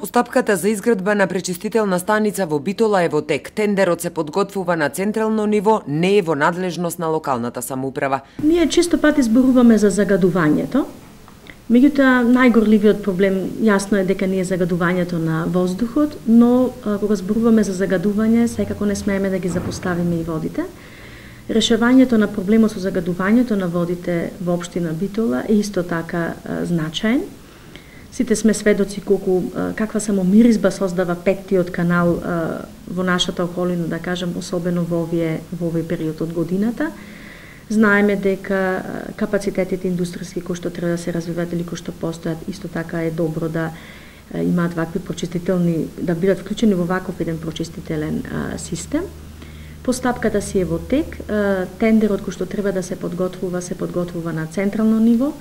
Постапката за изградба на пречистителна станица во Битола е во тек. Тендерот се подготвува на централно ниво, не е во надлежност на локалната самоуправа. Ние често пати зборуваме за загадувањето. Меѓутоа, најгорливиот проблем јасно е дека не е загадувањето на воздухот, но кога зборуваме за загадување, секако не смееме да ги запоставиме и водите. Решавањето на проблемот со загадувањето на водите во општина Битола е исто така значаен. Сите сме сведоци каква само миризба создава петтиот канал во нашата околина, да кажам, особено во овој период од годината. Знаеме дека капацитетите индустријски кои што треба да се развиваат или кои што постојат, исто така е добро да имаат вакви прочистителни, да бидат вклучени во ваков еден прочистителен систем. Постапката си е во тек, тендерот кој што треба да се подготвува на централно ниво.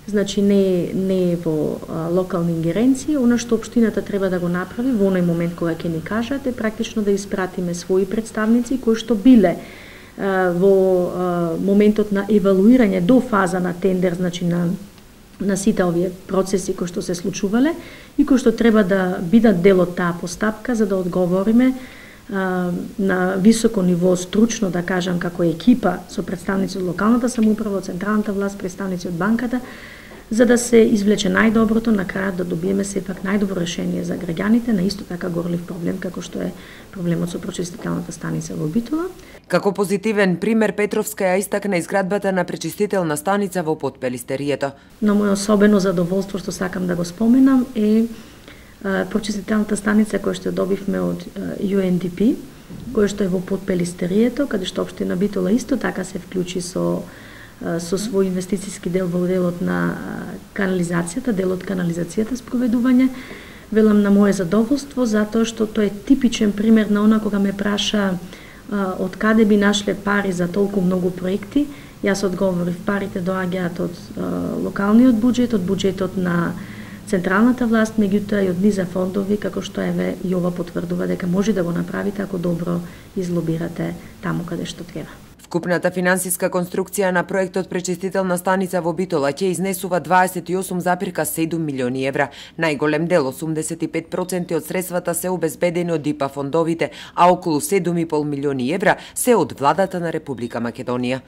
Значи не е во локални ингеренции. Она што општината треба да го направи во оној момент кога ќе ни кажат е практично да испратиме своји представници кои што биле во моментот на евалуирање до фаза на тендер, значи на сите овие процеси кои што се случувале и кои што треба да бидат дел од таа постапка за да одговориме на високо ниво стручно, да кажам, како екипа со представници од локалната самоуправа, од централната власт, представници од банката, за да се извлече најдоброто, на крајот да добиеме сепак најдобро решение за граѓаните на исто така горлив проблем како што е проблемот со пречистителната станица во Битола. Како позитивен пример Петровска ја истакна изградбата на пречистителна станица во Потпелистерието. Но мој особено задоволство што сакам да го споменам е пречистителната станица која што добивме од UNDP, која што е во Потпелистерието, каде што општина Битола исто така се вклучи со свој инвестициски дел во делот на канализацијата, делот канализацијата спроведување. Велам на моје задоволство затоа што тој е типичен пример на она кога ме праша од каде би нашле пари за толку многу проекти. Јас одговорив, парите доаѓаат од локалниот буџет, од буџетот на централната власт, меѓутоа и од низа фондови, како што еве и ова потврдува дека може да го направите ако добро излобирате таму каде што треба. Вкупната финансиска конструкција на проектот пречистителна станица во Битола ќе изнесува 28,7 милиони евра. Најголем дел, 85% од средствата се обезбедени од ИПА фондовите, а околу 7,5 милиони евра се од владата на Република Македонија.